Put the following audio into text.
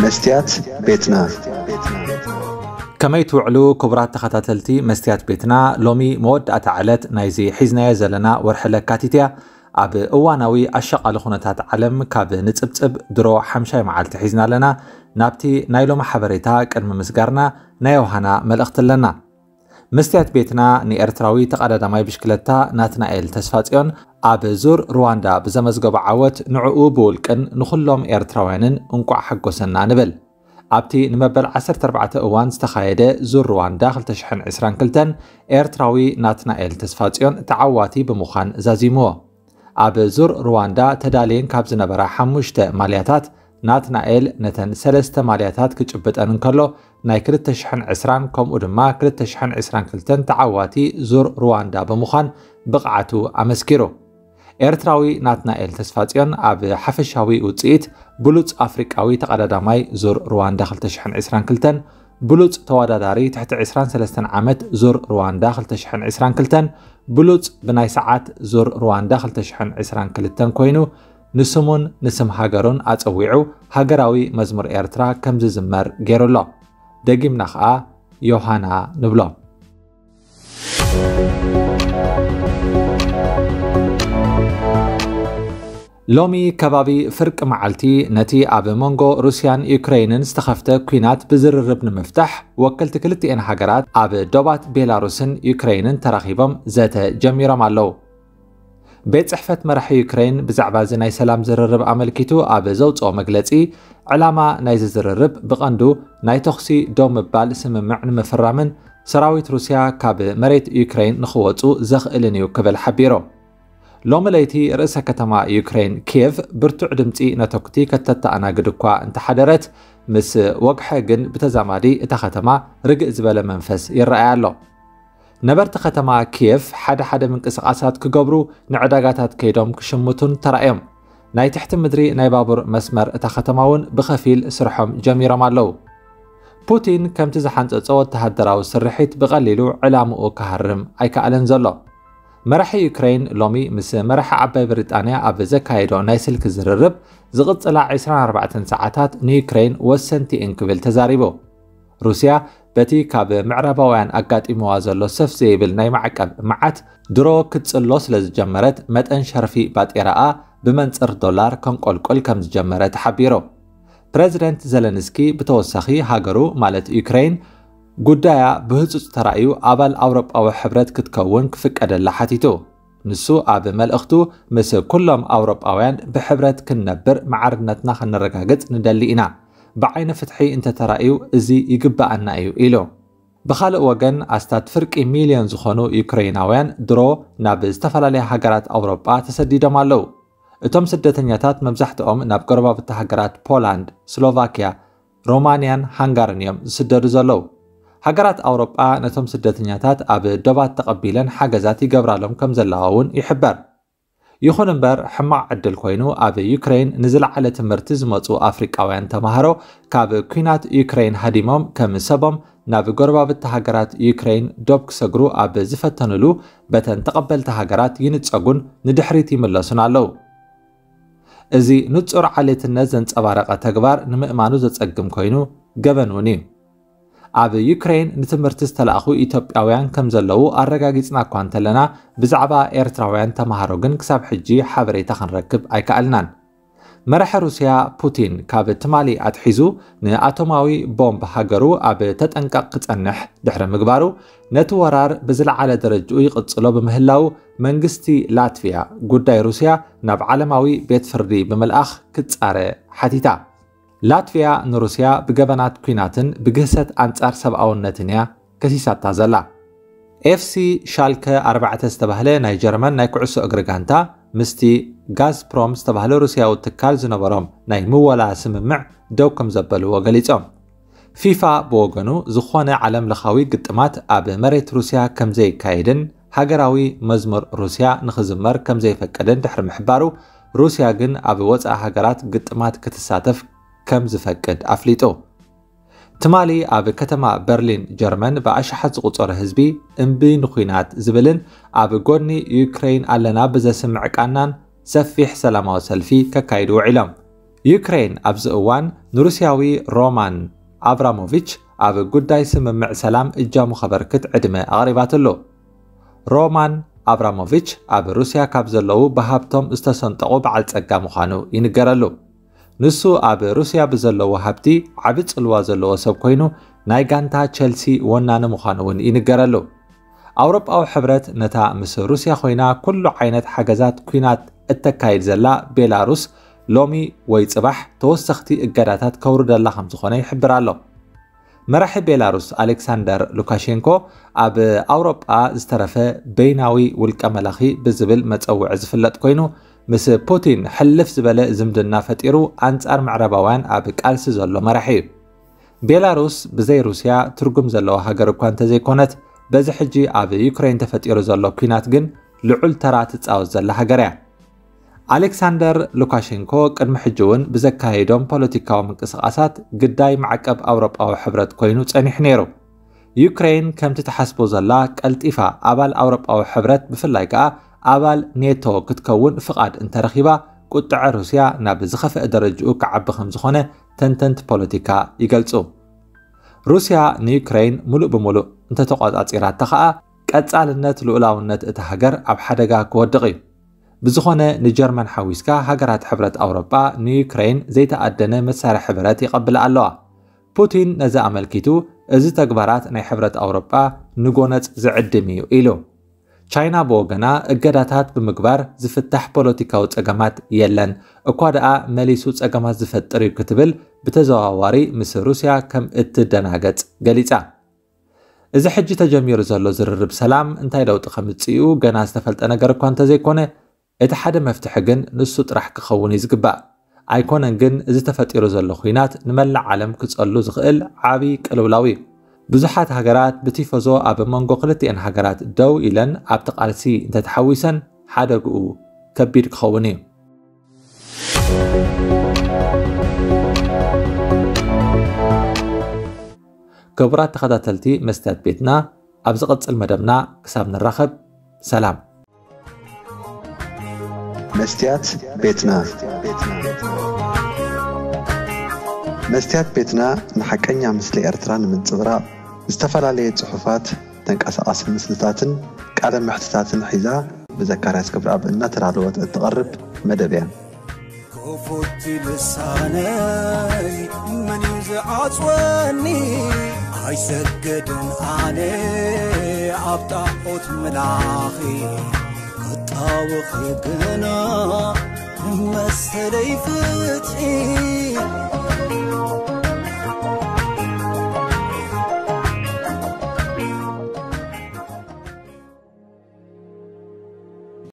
መስትያት ቤትና። ከመይ ትውዕሉ ክቡራት ተኸታተልቲ መስትያት ቤትና? ሎሚ መወዳእታ ዕለት ናይዚ ሒዝናዮ ዘለና ወርሒ ለካቲት እያ። ኣብ እዋናዊ ኣሻቓሊ ኩነታት ዓለም ካብ ንጽብጽብ ድሮ ሓምሻይ መዓልቲ ሒዝና ኣለና። ናብቲ ናይ ሎሚ ሓበሬታ ቅድሚ ምስጋርና ናይ ዮሃና መልእኽቲ ኣለና። መስትያት ቤትና ንኤርትራዊ ተቐዳዳማይ ብሽክለታ ናትናኤል ተስፋጽዮን ኣብ ዙር ሩዋንዳ ብዘመዝገቦ ዓወት ንዕኡ ብውልቅን ንኹሎም ኤርትራውያንን እንቋዕ ሓጎሰና ንብል። ኣብቲ ንመበል ዓሰርተ ኣርባዕተ እዋን ዝተኻየደ ዙር ሩዋንዳ ክልተ ሽሕን ዕስራን ክልተን ኤርትራዊ ናትናኤል ተስፋጽዮን ተዓዋቲ ብምዃን ዛዚምዎ። ኣብ ዙር ሩዋንዳ ተዳልየን ካብ ዝነበራ ሓሙሽተ ማልያታት ናትናኤል ነተን ሰለስተ ማልያታት ክጭብጠን እንከሎ፣ ናይ ክልተ ሽሕን ዕስራን ከምኡ ድማ ክልተ ሽሕን ዕስራን ክልተን ተዓዋቲ ዙር ሩዋንዳ ብምዃን ብቕዓቱ ኣመስኪሩ። ኤርትራዊ ናትናኤል ተስፋጽዮን ኣብ ሓፈሻዊ ውጽኢት ብሉጽ ኣፍሪቃዊ ተቐዳዳማይ ዙር ሩዋንዳ ክልተ ሽሕን ዕስራን ክልተን፣ ብሉጽ ተወዳዳሪ ትሕቲ ዕስራን ሰለስተን ዓመት ዙር ሩዋንዳ ክልተ ሽሕን ዕስራን ክልተን፣ ብሉጽ ብናይ ሰዓት ዙር ሩዋንዳ ክልተ ሽሕን ዕስራን ክልተን ኮይኑ፣ ንስሙን ንስም ሃገሩን ኣጸዊዑ ሃገራዊ መዝሙር ኤርትራ ከም ዝዝመር ገይሩ ኣሎ። ደጊምና ኸኣ ዮሃና ንብሎ። ሎሚ ከባቢ ፍርቂ መዓልቲ ነቲ ኣብ መንጎ ሩስያን ዩክረይንን ዝተኸፍተ ኲናት ብዝርርብ ንምፍታሕ ወከልቲ ክልቲኤን ሃገራት ኣብ ዶባት ቤላሩስን ዩክረይንን ተራኺቦም ዘተ ጀሚሮም ኣለዉ። ቤት ጽሕፈት መራሒ ዩክረይን ብዛዕባ እዚ ናይ ሰላም ዝርርብ ኣመልኪቱ ኣብ ዘውጽኦ መግለጺ፣ ዕላማ ናይዚ ዝርርብ ብቐንዱ ናይ ተኹሲ ደው ምባል ስምምዕ ንምፍራምን ሰራዊት ሩስያ ካብ መሬት ዩክረይን ንኽወጹ ዘኽእልን እዩ ክብል ሓቢሩ። ሎሚ ለይቲ ርእሰ ከተማ ዩክረይን ኪየቭ ብርቱዕ ድምጺ ነተኩቲ ከተተኣናግድ እኳ እንተሓደረት፣ ምስ ወግሐ ግን ብተዛማዲ እታ ከተማ ርግእ ዝበለ መንፈስ ይረኣይ ኣሎ። ነበርቲ ከተማ ኪየቭ ሓደ ሓደ ምንቅስቓሳት ክገብሩ፣ ንዕዳጋታት ከይዶም ክሽምቱን ተራእዮም። ናይ ትሕቲ ምድሪ ናይ ባቡር መስመር እታ ከተማ እውን ብኸፊል ስርሖም ጀሚሮም ኣለዉ። ፑቲን ከምቲ ዝሓንጸጾ ወተሃደራዊ ስርሒት ብቐሊሉ ዕላምኡ ክሃርም ኣይከኣለን ዘሎ። መራሒ ዩክረይን ሎሚ ምስ መራሒ ዓባይ ብሪጣንያ ኣብ ዘካየዶ ናይ ስልኪ ዝርርብ፣ ዝቕጽላ ዕስራን ኣርባዕተን ሰዓታት ንዩክረይን ወሰንቲ እየን ክብል ተዛሪቡ። ሩስያ በቲ ካብ ምዕራባውያን ኣጋጢምዋ ዘሎ ሰፍ ዘይብል ናይ ማዕቀብ መዓት ድሮ ክትጽሎ ስለ ዝጀመረት፣ መጠን ሸርፊ ባጤራኣ ብመንጽር ዶላር ከንቆልቁል ከም ዝጀመረ ተሓቢሩ። ፕረዚደንት ዘለንስኪ ብተወሳኺ፣ ሃገሩ ማለት ዩክረይን ጉዳያ ብህጹጽ ተራእዩ ኣባል ኣውሮጳዊ ሕብረት ክትከውን ክፍቀደላ ሓቲቱ። ንሱ ኣብ መልእኽቱ፣ ምስ ኩሎም ኣውሮጳውያን ብሕብረት ክንነብር ማዕርነትና ከነረጋግጽ ንደሊ ኢና። ብዓይኒ ፍትሒ እንተተራእዩ እዚ ይግብኣና እዩ ኢሉ። ብኻልእ ወገን፣ ኣስታት ፍርቂ ሚልዮን ዝኾኑ ዩክረይናውያን ድሮ ናብ ዝተፈላለያ ሃገራት ኣውሮጳ ተሰዲዶም ኣለዉ። እቶም ስደተኛታት መብዛሕትኦም ናብ ጎረባብቲ ሃገራት ፖላንድ፣ ስሎቫክያ፣ ሮማንያን ሃንጋርን እዮም ዝስደዱ ዘለዉ። ሃገራት ኣውሮጳ ነቶም ስደተኛታት ኣብ ዶባት ተቐቢለን ሓገዛት ይገብራሎም ከም ዘለዋ እውን ይሕበር። ይኹን እምበር፣ ሕማቕ ዕድል ኮይኑ ኣብ ዩክረይን ንዝለዓለ ትምህርቲ ዝመጹ ኣፍሪቃውያን ተማሃሮ ካብ ኲናት ዩክረይን ሃዲሞም ከም ሰቦም ናብ ጎረባብቲ ሃገራት ዩክረይን ዶብ ክሰግሩ ኣብ ዝፈተኑሉ፣ በተን ተቐበልቲ ሃገራት ይንጸጉን ንድሕሪት ይምለሱን ኣለዉ። እዚ ንጹር ዓሌትነት ዘንጸባረቐ ተግባር ንምእማኑ ዘጸግም ኮይኑ፣ ገበን እውን እዩ። ኣብ ዩክረይን ንትምህርቲ ዝተላእኹ ኢትዮጵያውያን ከም ዘለዉ ኣረጋጊጽና እኳ እንተለና፣ ብዛዕባ ኤርትራውያን ተማሃሮ ግን ክሳብ ሕጂ ሓበሬታ ክንረክብ ኣይከኣልናን። መራሒ ሩስያ ፑቲን፣ ካብ ትማሊ ኣትሒዙ ንኣቶማዊ ቦምብ ሃገሩ ኣብ ተጠንቀቕ ክጸንሕ ድሕሪ ምግባሩ፣ ነቲ ወራር ብዝለዓለ ደረጅኡ ይቕጽሎ ብምህላው፣ መንግስቲ ላትቪያ ጉዳይ ሩስያ ናብ ዓለማዊ ቤት ፍርዲ ብምልኣኽ ክጻረ ሓቲታ። ላትቪያ ንሩስያ ብገበናት ኲናትን ብግህሰት ኣንጻር ሰብኣውነትን እያ ከሲሳታ ዘላ። ኤፍሲ ሻልከ ኣርባዕተ ዝተባህለ ናይ ጀርመን ናይ ኩዕሶ እግሪ ጋንታ፣ ምስቲ ጋዝፕሮም ዝተባህለ ሩስያዊ ትካል ዝነበሮም ናይ ምወላ ስምምዕ ደው ከም ዘበልዎ ገሊጾም። ፊፋ ብወገኑ፣ ዝኾነ ዓለም ለኻዊ ግጥማት ኣብ መሬት ሩስያ ከም ዘይካየድን ሃገራዊ መዝሙር ሩስያ ንኽዝመር ከም ዘይፈቅድን ድሕሪ ምሕባሩ፣ ሩስያ ግን ኣብ ወጻኢ ሃገራት ግጥማት ክትሳተፍ ከም ዝፈቅድ ኣፍሊጡ። ትማሊ ኣብ ከተማ በርሊን ጀርመን ብኣሽሓት ዝቑጸሩ ህዝቢ እምቢ ንኹናት ዝብልን ኣብ ጎኒ ዩክረይን ኣለና ብዘስምዕ ቃናን ሰፊሕ ሰላማዊ ሰልፊ ከካይዱ ውዒሎም። ዩክሬን ኣብዚ እዋን ንሩስያዊ ሮማን ኣብራሞቪች ኣብ ጉዳይ ስምምዕ ሰላም እጃሙ ከበርክት ዕድመ ኣቕሪባትሉ። ሮማን ኣብራሞቪች ኣብ ሩስያ ካብ ዘለዉ ብሃብቶም ዝተሰንጠቑ በዓል ጸጋ ምዃኑ ይንገረሉ። ንሱ ኣብ ሩስያ ብዘለዎ ሃብቲ ዓቢ ጽልዋ ዘለዎ ሰብ ኮይኑ፣ ናይ ጋንታ ቸልሲ ወናኒ ምዃኑ እውን ይንገረሉ። ኣውሮጳዊ ሕብረት ነታ ምስ ሩስያ ኮይና ኩሉ ዓይነት ሓገዛት ኲናት እተካይድ ዘላ ቤላሩስ ሎሚ ወይ ጽባሕ ተወሰኽቲ እገዳታት ከውርደላ ከም ዝኾነ ይሕብር ኣሎ። መራሒ ቤላሩስ ኣሌክሳንደር ሉካሼንኮ ኣብ ኣውሮጳ ዝተረፈ በይናዊ ውልቀ መላኺ ብዝብል መጸውዒ ዝፍለጥ ኮይኑ፣ ምስ ፑቲን ሕልፍ ዝበለ ዝምድና ፈጢሩ ኣንጻር ምዕራባውያን ኣብ ቃልሲ ዘሎ መራሒ እዩ። ቤላሩስ ብዘይ ሩስያ ትርጉም ዘለዋ ሃገር እኳ እንተዘይኮነት፣ በዚ ሕጂ ኣብ ዩክሬን ተፈጢሩ ዘሎ ኲናት ግን ልዑል ተራ ትጻወት ዘላ ሃገር እያ። ኣሌክሳንደር ሉካሼንኮ ቅድሚ ሕጂ እውን ብዘካየዶም ፖለቲካዊ ምንቅስቓሳት ግዳይ ማዕቀብ ኣውሮጳዊ ሕብረት ኮይኑ ጸኒሑ ነይሩ። ዩክሬን ከምቲ ትሓስቦ ዘላ ቀልጢፋ ኣባል ኣውሮጳዊ ሕብረት፣ ብፍላይ ከኣ ኣባል ኔቶ ክትከውን ፍቓድ እንተረኺባ፣ ቁጥዐ ሩስያ ናብ ዝኸፍአ ደረጅኡ ክዓቢ ከም ዝኾነ ተንተንቲ ፖለቲካ ይገልጹ። ሩስያ ንዩክሬን ሙሉእ ብሙሉእ እንተተቆጻጺራታ ከኣ፣ ቀጻልነት ልኡላውነት እታ ሃገር ኣብ ሓደጋ ክወድቕ እዩ። ብዝኾነ፣ ንጀርመን ሓዊስካ ሃገራት ሕብረት ኣውሮጳ ንዩክሬን ዘይተኣደነ መሳርሒ ብረት ይቐብላ ኣለዋ። ፑቲን ነዚ ኣመልኪቱ፣ "እዚ ተግባራት ናይ ሕብረት ኣውሮጳ ንጎነጽ ዝዕድም እዩ" ኢሉ። ቻይና ብወገና፣ እገዳታት ብምግባር ዝፍታሕ ፖለቲካዊ ጸገማት የለን፣ እኳ ደኣ መሊሱ ጸገማት ዝፈጥር እዩ ክትብል ብተዘዋዋሪ ምስ ሩስያ ከም እትደናገጽ ገሊጻ። እዚ ሕጂ ተጀሚሩ ዘሎ ዝርርብ ሰላም እንታይ ለውጢ ከምጽእኡ ገና ዝተፈልጠ ነገር እኳ እንተዘይኮነ፣ እቲ ሓደ መፍትሒ ግን ንሱ ጥራሕ ክኸውን እዩ ዝግባእ። ኣይኮነን ግን፣ እዚ ተፈጢሩ ዘሎ ኲናት ንመላእ ዓለም ክጸሉ ዝኽእል ዓቢ ቅልውላው እዩ። ብዙሓት ሃገራት ብቲፎዞ ኣብ መንጎ ክልቲኤን ሃገራት ደው ኢለን ኣብቲ ቃልሲ እንተተሓዊሰን፣ ሓደግኡ ከቢድ ክኸውን እዩ። ክቡራት ተኸታተልቲ መስትያት ቤትና፣ ኣብ ዝቕጽል መደብና ክሳብ ንራኸብ፣ ሰላም። መስትያት ቤትና። መስትያት ቤትና ንሓቀኛ ምስሊ ኤርትራ ንምንጽብራቕ፣ ዝተፈላለየ ጽሑፋት፣ ተንቀሳቓሲ ምስልታትን ቃለ መሕትታትን ሒዛ፣ ብዘካርያስ ክብረኣብ እናተዳለወት እትቐርብ መደብ እያ። ክፉት ልሳነይ መን እዩ ዝዓጽወኒ? ኣይሰግድን ኣነ ኣብ ጣዖት ምላኺ፣ ክጣወኺ ግና መሰለይ ፍትሒ።